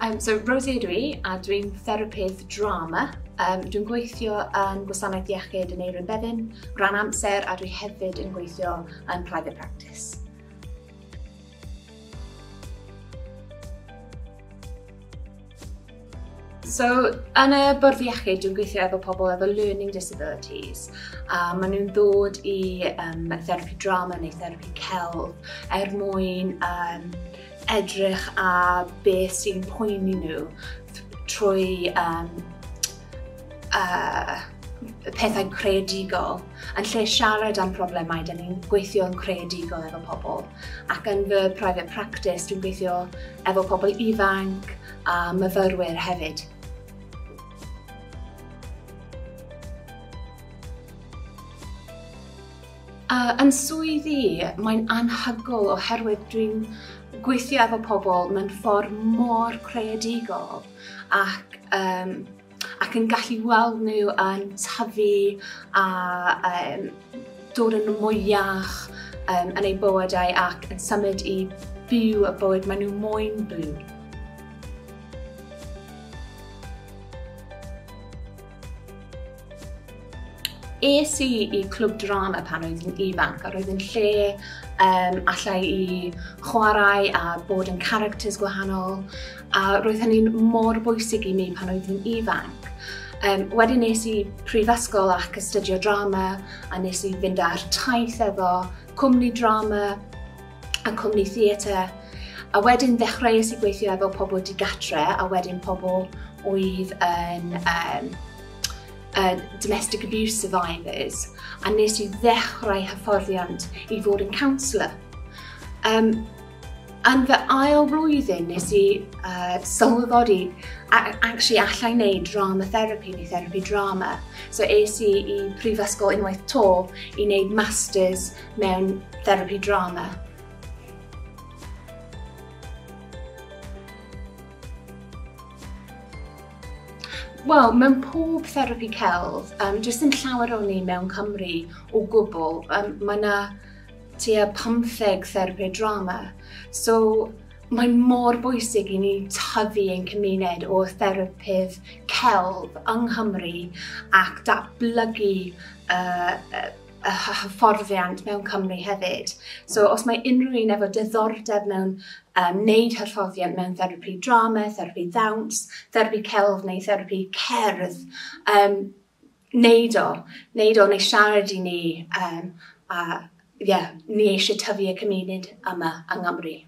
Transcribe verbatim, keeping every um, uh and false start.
Um, so Rosie ydw i, a dwi'n therapydd drama. Um, dwi'n gweithio yn Gwasanaeth Iechyd yn Aneurin Bevan, rhan amser, a dwi hefyd yn gweithio yn private practice. So, yn y bwrdd iechyd, dwi'n gweithio efo pobl efo learning disabilities. A maen nhw'n ddod i um, therapi drama neu therapi celf er mwyn um, edrych a beth sy'n poeni nhw trwy um, uh, pethau creadigol. Yn lle siarad am problemau, da ni'n gweithio yn creadigol efo pobl. Ac yn fy private practice, dwi'n gweithio efo pobl ifanc a myfyrwyr hefyd. Uh, yn swydd i, mae'n anhygoel oherwydd dwi'n gweithio efo pobl mewn ffordd mor creadigol ac, um, ac yn gallu weld nhw yn tyfu a um, dod yn mwy iach um, yn eu bywydau ac yn symud i byw y bywyd maen nhw moyn byw. Es i i clwb drama pan oedd yn ifanc, a roedd yn lle um, allai i chwarae a bod yn characters gwahanol, a roedd hynny'n mor bwysig i mi pan oedd yn ifanc. Um, wedyn nes i prifysgol ac astudio drama, a nes i fynd ar taith efo cwmni drama a cwmni theatr. A wedyn ddechreuais i gweithio efo pobl digatre, a wedyn pobl oedd yn um, Uh, domestic abuse survivors, a nes i ddechrau hyfforddiant i fod yn counsellor. Um, yn fy ail blwyddyn nes i uh, sylweddoli actually allai wneud drama therapy neu therapy drama. So es i i prifysgol unwaith to i wneud masters mewn therapy drama. Wel, mewn pob therapi celf, um, jyst yn llawer o ni mewn Cymru o gwbl, um, mae yna tua pymtheg therapi drama. So, mae'n mor bwysig i ni tyfu ein cymuned o therapydd celf yng Nghymru ac datblygu uh, y hyfforddiant mewn Cymru hefyd. So, os mae unrhyw un efo diddordeb mewn um, wneud hyfforddiant mewn therapi drama, therapi ddawns, therapi celf neu therapi cerdd, um, neud o, neud o neu siarad i ni, um, a yeah, ni eisiau tyfu y cymuned yma yng Nghymru.